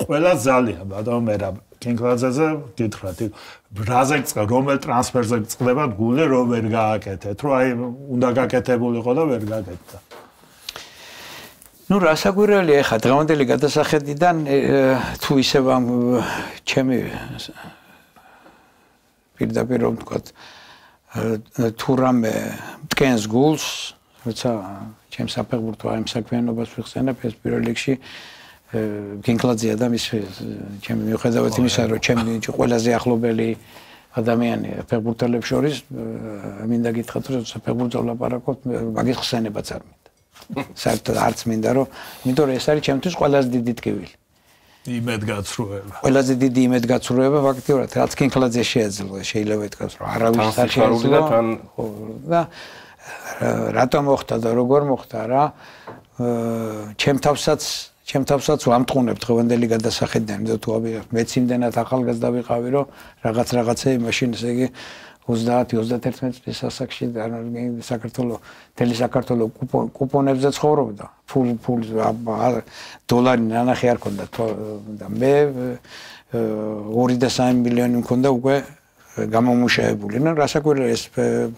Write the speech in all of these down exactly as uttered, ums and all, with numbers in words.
ყველა ზალია ბატონო მერაბ კინკლაძეზე გითხრათ რაზე წ რომელ ტრანსფერზე წდებათ გული რომ ვერ გააკეთეთ რომ აი უნდა გაკეთებულიყო და ვერ გაკეთდა ნუ რასაკვირველია ხა დღევანდელი გადასახედიდან თუ ისევ ამ ჩემი პირდაპირ რომ ვთქვათ თუ რამე მტკენს გულს როცა ჩემ საფეხბურთო ამ საქმიანობას ვიხსენებ ეს პირველ რიგში კინკლაძეა და მის ჩემი მიუხედავად იმისა რომ ჩემი ყველაზე ახლობელი ადამიანია ფეხბურთელებს შორის მინდა გითხრათ რომ საფეხბურთო ლაპარაკობ მაგის ხსენებაც არ მინდა საერთოდ არც მინდა რომ იმიტომ რომ ეს არის ჩემთვის ყველაზე დიდი ტკივილი იმედგაცრუება ყველაზე დიდი იმედგაცრუება ფაქტიურად რაც კინკლაძე შეეძლო შეიძლება ითქვას რომ არავის არ შეეძლო და რატომ მოხდა და როგორ მოხდა რა ჩემ თავსაც ჩემ თავსაც ვამტყუნებ დღევანდელი გადასახედიდან და თუ მეც იმდენად ახალგაზრდა ვიყავი რომ რაღაც რაღაცა მაშინ ესე იგი ოცდაათი ოცდაათერთმეტი წლის ასაკში საქართველოს თელი საქართველოს კუპონებზე ცხოვრობდა ფულ ფულ დოლარი ნანახი არ ქონდა და მე ორი და სამი მილიონი მქონდა უკვე გამომუშავებული. ნუ რასაკვირველია ეს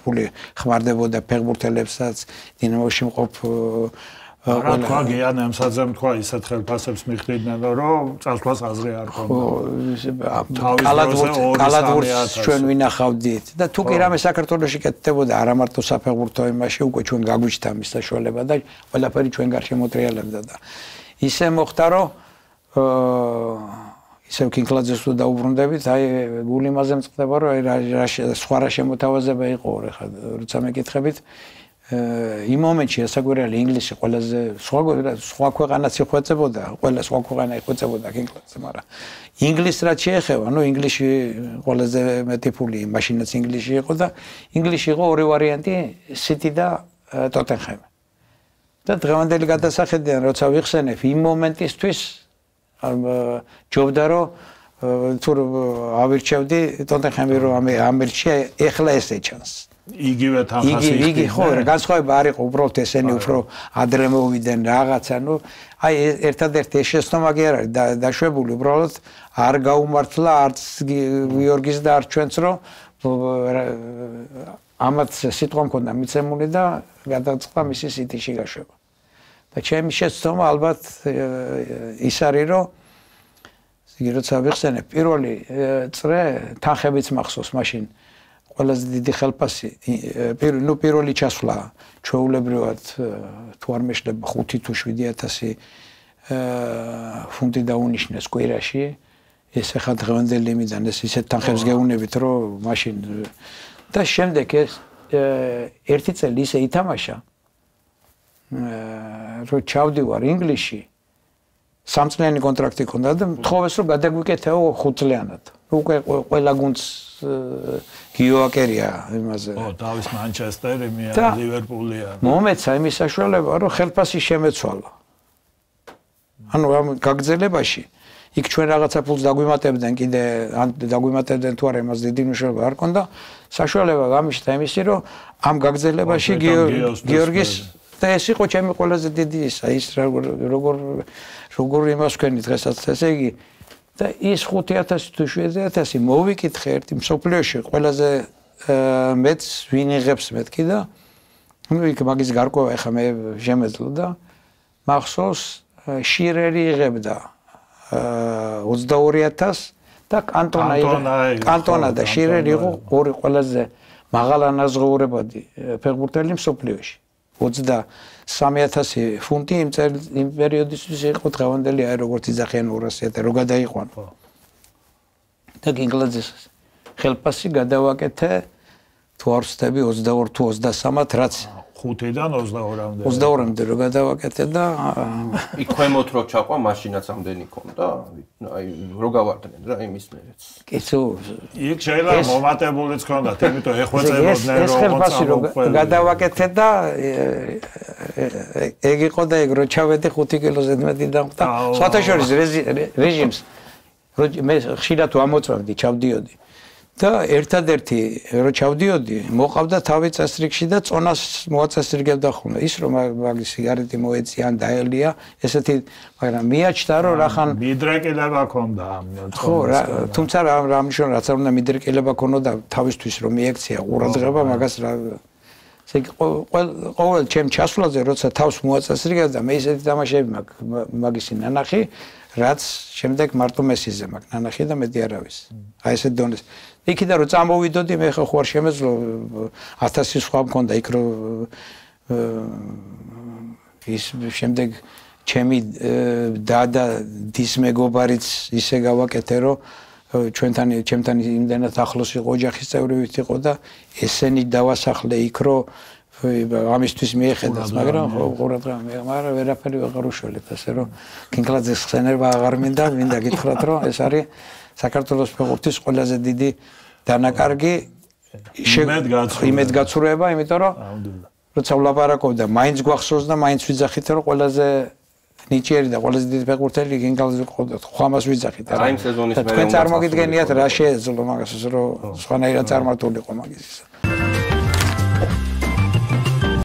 ფული ხმარდებოდა ფეხბურთელებსაც დინამოში მყოფ რა თქვა გიან ემსაძემ თქვა ისეთ ხელფასებს მიხვდნენ რომ წასვლას აზრი არ ქონდა. კალათბურთს ჩვენ ვინახავდით და თუ კი რამე საქართველოში კეთდებოდა არა მარტო საფეხბურთო იმაში უკვე ჩვენ გაგვიჩნდა მის საშუალება და ყველაფერი ჩვენ გარშემოტრიალებდა და ისე მოხდა რომ ისევ კინკლაძეს თუ დაუბრუნდებით აი გული იმაზე მწყდება რომ აი სხვა რა შემოთავაზება იყო ხა როცა მეკითხებით იმ მომენტში ასაკვირველი ინგლისში ყველაზე სხვა სხვა ქვეყანაც იხვეწებოდა, ყველა სხვა ქვეყანა იხვეწებოდა კინკლაძე, მაგრამ ინგლისს რაც შეეხება, ნუ ინგლისში ყველაზე მეტი ფული მაშინაც ინგლისში იყო და ინგლისში იყო ორი ვარიანტი, სიტი და ტოტენჰემი. და დღევანდელი გადასახედიდან როცა ვიხსენებ იმ მომენტისთვის ჯობდა რომ თუ ავირჩევდი ტოტენჰემი რომ ამერჩია ეხლა ესე ჩანს. იგივე თანხას იგი იგი ხო განსხვავება არ იყო უბრალოდ ესენი უფრო ადრე მოვიდნენ რაღაცა ნუ აი ერთადერთი ეს შეცდომა კი არ არის დაშვებული უბრალოდ არ გაუმართლა არც გიორგის და არც ჩვენც რომ ამათ სიტყვა მქონდა მიცემული და გადაწყდა მისი სიტიში გაშვება და ჩემი შეცდომა ალბათ ის არის რომ იგი როცა ვიხსენებ პირველი წრე თანხებიც მახსოვს მაშინ ყველაზე დიდი ხელფასი ნუ პირველი ჩასვლა ჩვეულებრივად თუ არ მეშლება ხუთი თუ შვიდი ათასი ფუნტი დაუნიშნეს კვირაში ეს ახლა დღევანდელი იმიდან ეს ისეთ თანხებს გეუნებით რომ მაშინ და შემდეგ ეს ერთი წელი ისე ითამაშა რომ ჩავდივარ ინგლისში სამწლიანი კონტრაქტი ჰქონდა და მთხოვეს რომ გადაგვიკეთეო ხუთწლიანად უკვე ყველა გუნდს გიოაკერია იმაზე. ო, დავის მანჩესტერი, მე ლივერპულია. მომეცა იმის საშუალება, რომ ხელფასი შემეცვალა. ანუ ამ გაგრძელებაში იქ ჩვენ რაღაცა ფულს დაგვიმატებდნენ კიდე ან დაგვიმატებდნენ თუ არა იმას დიდი მნიშვნელობა არ ქონდა. საშუალება გამიშთა იმისი, რომ ამ გაგრძელებაში გიორგის და ეს იყო ჩემი ყველაზე დიდი ისა, ის როგორ როგორ იმას ვქენი დღესაც ესე იგი და ის ხუთი ათასი თუ შვიდი ათასი მოვიკითხე ერთი მსოფლიოში ყველაზე მეც ვინ იღებს მეთქი და ნუ იქ მაგის გარკვევა ახლა მე შემეძლო და მახსოვს შირერი იღებდა ოცდაორი ათასი და კანტონა კანტონა და შირერი იყო ორი ყველაზე მაღალანაზღაურებადი ფეხბურთელი მსოფლიოში ოცდასამი ათასი ფუნტი იმ იმ პერიოდისთვის იყო დღევანდელი აი როგორც იძახიან ორასი ათასი რო გადაიყვან და კინკლაძეს ხელფასი გადავაკეთე თუ არ ვცდები ოცდაორი თუ ოცდასამად რაც ხუთიდან ოცდაორმდე ოცდაორმდე რო გადავაკეთე და იქ ქვემოთ რო ჩაყვა მაშინაც ამდენი ქონდა აი რო გავარდნენ რა იმის მერეც კიცო იქ შეიძლება მომატებულიც ქონდათ იმიტომ ეხვეწებოდნენ რომ ეს ხელფასი რო გადავაკეთე და ეგ იყო და ეგ რო ჩავედი ხუთი კილოზე მეტი დამხდა სხვათა შორის რეჟიმს რო მე ხშირად ვამოწმებდი ჩავდიოდი და ერთადერთი რო ჩავდიოდი, მოყავდა თავი წესრიგში და წონას მოაწესრიგებდა ხოლმე. ის რომ მაგის სიგარეტი მოეწია ან დაელია, ესეთი, მაგრამ მიაჩნდა რომ რახან მიდრეკილება ქონდა ამ ხო, თუმცა რა მნიშვნელობა რაც არ უნდა მიდრეკილება ქონოდა თავისთვის რომ მიექცია ყურადღება, მაგას რა ესე იგი ყოველ ჩემ ჩასვლაზე როცა თავს მოაწესრიგებდა, მე ისეთი თამაშები მაქვს მაგისი ნანახი, რაც შემდეგ მარტო მესიზე მაქვს ნანახი და მეტი არავის. აი ესე დონეს. იქიდან რომ წამოვიდოდი, მე ხო ხوار შემეძლო ათასი სხვა მქონდა იქ რომ ის შემდეგ ჩემი დადა დის მეგობარიც ისე გავაკეთე რომ ჩვენთან ჩემთან იმდენად ახლოს იყო ოჯახის წევრივით იყო და ესენი დავასახლე იქ რომ ამისთვის მიეხედას, მაგრამ ხო ყურადღება მე მაგრამ ვერაფერი ვეღარ უშველებ ასე რომ კინკლაძეს ხსენება აღარ მინდა, მინდა გითხრათ რომ ეს არის საქართველოს ფეხბურთის ყველაზე დიდი დანაკარგი იმედგაცრუება, იმიტომ რომ როცა ვლაპარაკობდა, მაინც გვახსოვს და მაინც ვიძახით რომ ყველაზე ნიჭიერი და ყველაზე დიდი ფეხბურთელი კინკლაძე ყავდა, ხო ამას ვიძახით. აი იმ სეზონის მერე თქვენ წარმოგიდგენიათ რა შეეძლო მაგას რომ სხვანაირად წარმართულიყო მაგის.